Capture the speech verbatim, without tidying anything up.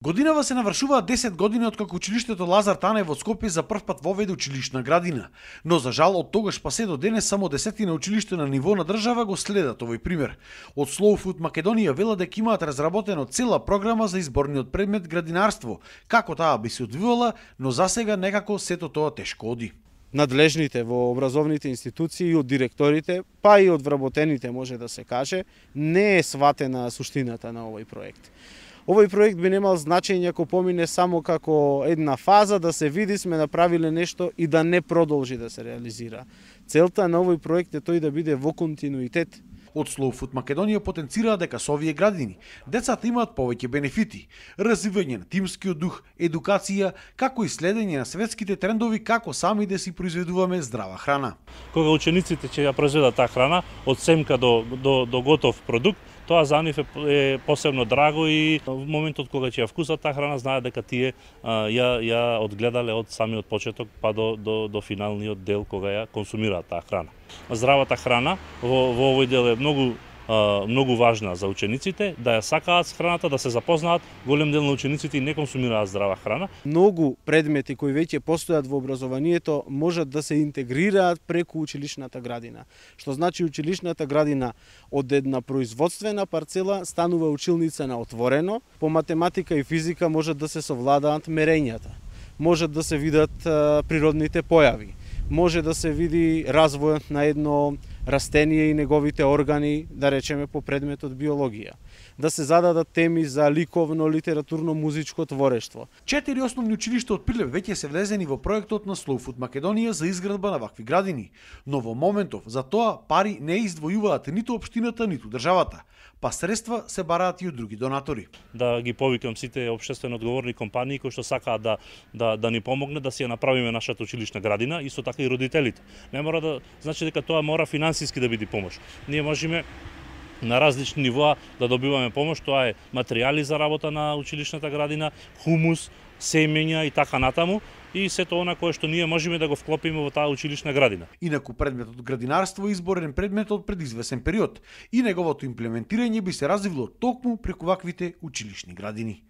Годинава се навршуваат десет години откако училиштето Лазар Танев во Скопје за прв пат воведе училишна градина, но за жал од тогаш па се до денес само десетина училишта на ниво на држава го следат овој пример. Од Slow Food Македонија велат дека имаат разработено цела програма за изборниот предмет градинарство, како таа би се одвивала, но засега некако сето тоа тешко оди. Надлежните во образовните институции, од директорите, па и од вработените може да се каже, не е сватена суштината на овој проект. Овој проект би немал значење ако помине само како една фаза да се види сме направиле нешто и да не продолжи да се реализира. Целта на овој проект е тој да биде во континуитет. Од Slow Food Македонија потенцира дека со овие градини децата имаат повеќе бенефити, развивање на тимскиот дух, едукација, како и следење на светските трендови како сами да си произведуваме здрава храна. Кога учениците ќе ја произведат таа храна од семка до до до готов продукт, тоа за нив е посебно драго и во моментот кога ќе ја вкусат таа храна знаат дека тие а, ја ја одгледале од самиот почеток па до до до финалниот дел кога ја консумираат таа храна. Здравата храна во во овој дел е многу а, многу важна за учениците, да ја сакаат храната, да се запознаат. Голем дел на учениците не консумираат здрава храна. Многу предмети кои веќе постојат во образованието можат да се интегрираат преку училишната градина, што значи училишната градина од една производствена парцела станува училница на отворено. По математика и физика можат да се совладаат мерењата, можат да се видат а, природните појави, може да се види развојот на едно растение и неговите органи, да речеме по предметот биологија, да се зададат теми за ликовно, литературно, музичко творештво. Четири основни училишта од Прилеп веќе се влезени во проектот на Slow Food Македонија за изградба на вакви градини, но во моментов за тоа пари не издвојуваат ниту општината, ниту државата, па средства се бараат и од други донатори. Да ги повикам сите општествено одговорни компании кои што сакаат да да да ни помогнат да си ја направиме нашата училишна градина, исто така и родителите. Не мора да значи дека тоа мора финансиски да биде помош. Ние можеме на различни нивоа да добиваме помош, тоа е материјали за работа на училишната градина, хумус, семења и така натаму, и сето она кое што ние можеме да го вклопиме во таа училишна градина. Инаку предметот градинарство е изборен предмет од предизвесен период и неговото имплементирање би се развило токму преку ваквите училишни градини.